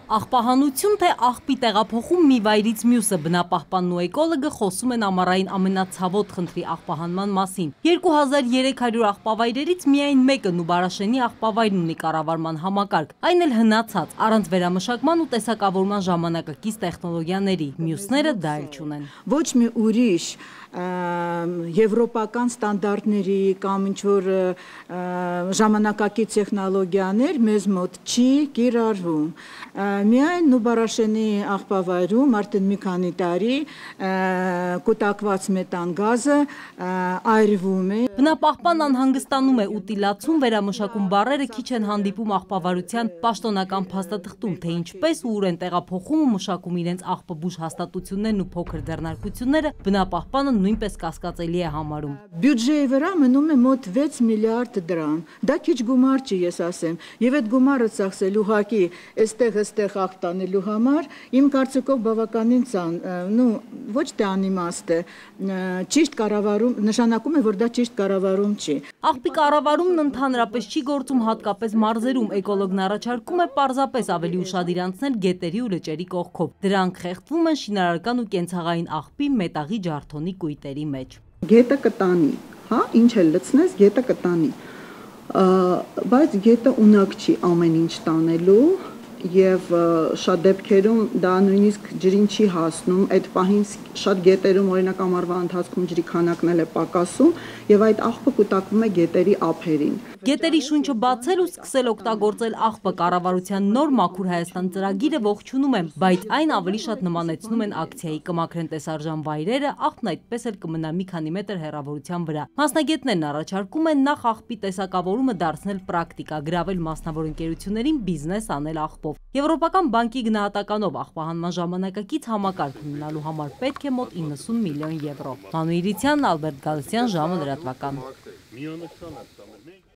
Աղբահանություն թե աղբի տեղափոխում մի վայրից մյուսը բնապահպանն ու էկոլոգը խոսում են ամառային ամենացավոտ խնդրի աղբահանման մասին։ 2300 աղբավայրերից միայն մեկը Նուբարաշենի աղբավայրն ունի կառավարման համակարգ, այն էլ հնացած, առանց վերամշակման ու տեսակավորման ժամանակակից տեխնոլոգիաների, մյուսները դա էլ չունեն։ Ոչ մի ուրիշ եվրոպական ստանդարտների կամ ինչ-որ ժամանակակից տեխնոլոգիաներ մեզ մոտ չի կիրառվում։ Միայն Նուբարաշենի աղբավայրում արդեն մի քանի տարի կուտակված մետան գազը այրվում է։ Բնապահպան անհանգստանում է ուտիլացում, վերամշակում բառերը քիչ են հանդիպում աղբավարության պաշտոնական փաստաթղթում, թե ինչպես ու ուր են տեղափոխում ու մշակում իրենց աղբաբուժ հաստատություններն ու փոքր ձեռնարկությունները, բնապահպանը նույնպես կասկածելի է համարում։ Բյուջեի վրա մնում է մոտ 6 միլիարդ դրամ։ Դա քիչ գումար չի, ես ասեմ, եւ այդ գումարը ծախսել ուղղակի այստեղ աղբ տանելու համար, իմ կարծիքով բավականին ոչ թե անիմաստ է, ճիշտ կառավարում, նշանակում է, որ դա ճիշտ կառավարում չի։ Աղբի կառավարումն ընդհանրապես չի գործում հատկապես մարզերում, էկոլոգն առաջարկում է պարզապես ավելի ուշադիր անցնել գետերի ու լճերի կողքով։ Դրանք խեղդվում են շինարարական ու կենցաղային աղբի մետաղի ջարդոնի կույտերի մեջ։ Գետը կտանի, հա, ինչ էլ լցնես, գետը կտանի, բայց գետը ունակ չի ամեն ինչ տանելու եւ շատ դեպքերում դա նույնիսկ ջրին չի հասնում, այդ պահին շատ գետերում օրինակ ամառվա ընթացքում ջրի քանակն էլ է պակասում եւ այդ աղբը կուտակվում է գետերի ափերին։ Գետերի շունչը բացել ու սկսել օգտագործել աղբը կառավարության նոր Մաքուր Հայաստան ծրագիրը ողջունում եմ, բայց այն ավելի շատ նմանեցնում են ակցիայի, կմաքրեն տեսարժան վայրերը, աղբն այդպես էլ կմնա մի քանի մետր հեռավորության վրա։ Մասնագետներն առաջարկում են նախ աղբի տեսակավորումը դարձնել պրակտիկա, գրավել մասնավոր ընկերություններին բիզնես անել աղբով։ Եվրոպական բանկի գնահատականով աղբահանման ժամանակակից համակարգ ունենալու համար պետք է մոտ 90 միլիոն եվրո։ Մանուիրիցյան, Ալբերտ Գալստյան, ժամը լրատվական։